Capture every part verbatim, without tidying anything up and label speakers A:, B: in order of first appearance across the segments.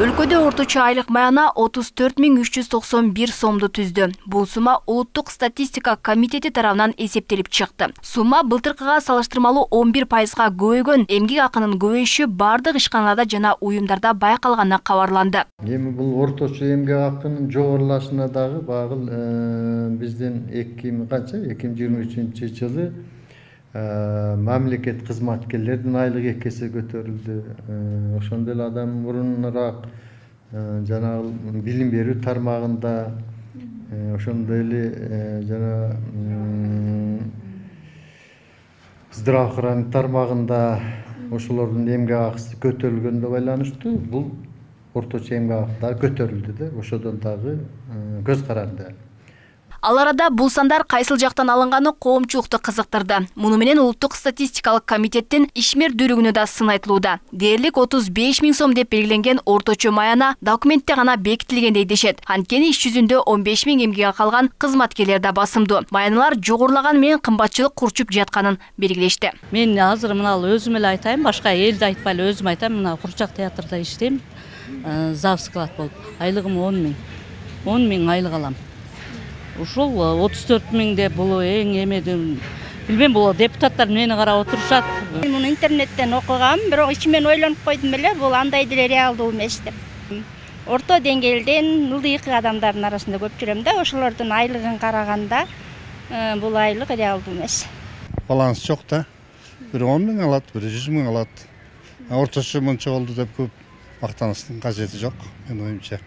A: Өлкөдө орточо айлык маяна отуз төрт миң үч жүз токсон бир сомду түздү. Бул сума Улуттук статистика комитети тарабынан эсептелип чыкты. Сума былтыркыга салыштырмалуу он бир пайызга көбөйгөн. Эмгек акынын көбөйүшү бардык ишканаларда жана уюмдарда байкалганы кабарланды.
B: Эми бул орточо эмгек акынын жогорулашына дагы багыл биздин эки миң канча эки миң жыйырма үчүнчү жылы мамлекет кызматкерлердин айлыгы эки эсе көтөрүлдү. Ошондой эле адам мурунураак жанагы билим берүү тармагында, ошондой эле жана здравоохранение тармагында ошолордун эмгек акысы көтөрүлгөнгө байланыштуу бул орточо эмгек акы дагы көтөрүлдү да, ошодон дагы көз каранды.
A: Ал арада бул сандар кайсыл жактан алынганы коомчулукту кызыктырды. Муну менен Улуттук статистикалык комитеттин ишмердүүлүгүнө да сын айтылууда. Дээрлик отуз беш миң сом деп белгиленген орточо маяна документте гана бекитилгендей дешет. Анткени иш жүзүндө он беш миң эмгек акы алган кызматкерлер да басымдуу. Маяналар жогорулаган менен кымбатчылык курчуп жатканын белгилешти.
C: Мен азыр мына өзүм эле айтайын, башка элди айтпай эле өзүм айтайм. Мына Курчак театрда иштейм. Зав склад болуп. Айлыгым он миң. он миң айлык алам. Ушул отуз төрт миң деп бул эң эмеден билбейм, бул депутаттар мени карап отурушат.
D: Мен муну интернеттен окугам, бирок ичимен ойлонуп койдум эле, бул андай деле реалдуу эмес деп. Орто деңгээлден ылдыйкы адамдардын арасында көп жүрөм да, ошолордун айлыгын караганда бул айлык реалдуу эмес.
E: Баланс жок да. Бири он миң алат, бири жүз миң алат. Орточо мынча болду деп көп мактаныштын кажети жок, менин оюмча.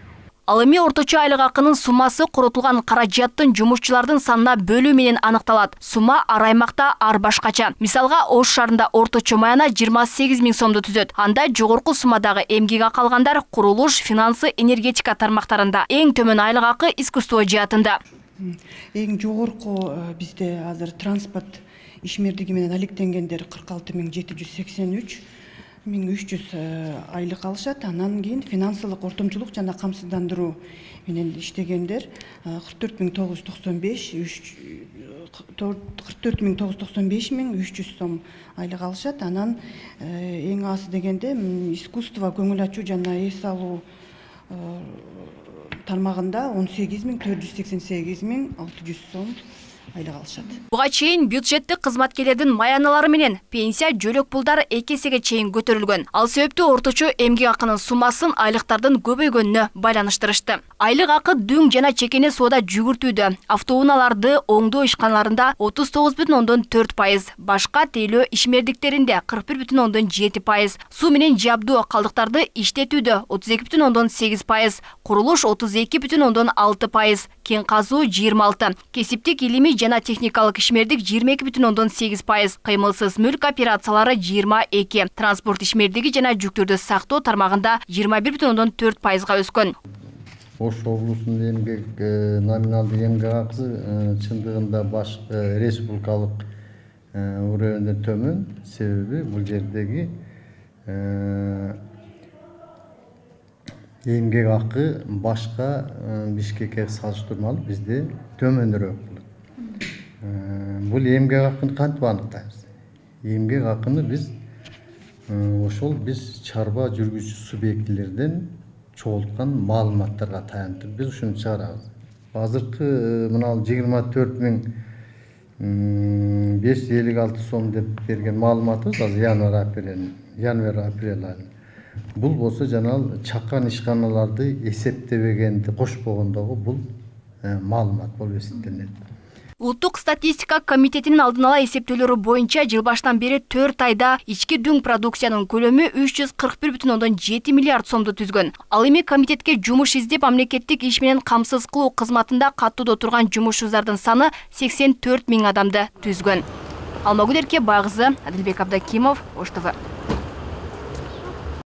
A: Ал эми орточо айлык акынын суммасы коротулган каражаттын жумушчулардын санына бөлүү менен аныкталат. Сума ар аймакта ар башкача. Мисалга, Ош шаарында орточо маяна жыйырма сегиз миң сомду түзөт. Анда жогорку суммадагы эмгек акы алгандар курулуш, финансы, энергетика тармактарында. Эң төмөн айлык акы искусство жаатында.
F: Эң жогорку бизде азыр транспорт ишмердиги менен алектенгендер кырк алты миң жети жүз сексен үч миң үч жүз айлык алышат. Анан кийин финансылык ортомчулук жана камсыздандыруу менен иштегендер кырк төрт миң тогуз жүз токсон беш кырк төрт миң тогуз жүз токсон беш миң үч жүз сом айлык алышат. Анан эң азы дегенде искусство, көңүл ачуу жана эс алуу тармагында он сегиз миң төрт жүз сексен сегиз миң алты жүз сом айлык алышат.
A: Буга чейин бюджеттик кызматкерлердин маяналары менен пенсия, жөлөк пулдар эки эсеге чейин көтөрүлгөн. Ал себептүү орточо эмгек акынын суммасын айлыктардын көбөйгөнүнө байланыштырышты. Айлык акы дүң жана чекене соода жүгүртүүдө, автоунааларды оңдоо ишканаларында отуз тогуз бүтүн ондон төрт пайыз, башка тейлөө ишмердиктеринде кырк бир бүтүн ондон жети пайыз, суу менен жабдуу калдыктарды иштетүүдө отуз эки бүтүн ондон сегиз пайыз, курулуш отуз эки бүтүн ондон алты пайыз, кен казуу жыйырма алты, кесиптик илимий жана техникалык ишмердик жыйырма эки бүтүн ондон сегиз пайыз, кыймылсыз мүлк операциялары жыйырма эки, транспорт ишмердиги жана жүктөрдү сактоо тармагында жыйырма бир бүтүн ондон төрт пайызга өскөн.
B: Ош облусунун эмгек номиналдык эмгек акысы чындыгында башкы республикалык уровеньден төмөн. Себеби бул жердеги эмгек акы башка Бишкекке салыштырмалуу бизде төмөнүрөөк. Бул эмгек акыны кантип аныктайбыз? Эмгек акыны биз ошол биз чарба жүргүзүүчү субъектилерден чогулткан маалыматтарга таянып биз ушуну чыгарабыз. Азыркы мына жыйырма төрт миң беш жүз элүү алты сом деп берген маалыматыбыз азыр январь апрель январь апрель айы. Бул болсо жана чакан ишканаларды эсептебегенди кошпогондогу бул маалымат болуп эсептелет.
A: Улуттук статистика комитетинин алдын ала эсептөөлөрү боюнча жыл башынан бери төрт айда ички дүң продукциянын көлөмү үч жүз кырк бир бүтүн ондон жети миллиард сомду түзгөн. Ал эми комитетке жумуш издеп мамлекеттик иш менен камсыз кылуу кызматында каттоодо турган жумушчулардын саны сексен төрт миң адамды түзгөн. Алмагүл Эрке Багызы, Адилбек Абдакимов, Ош ТВ.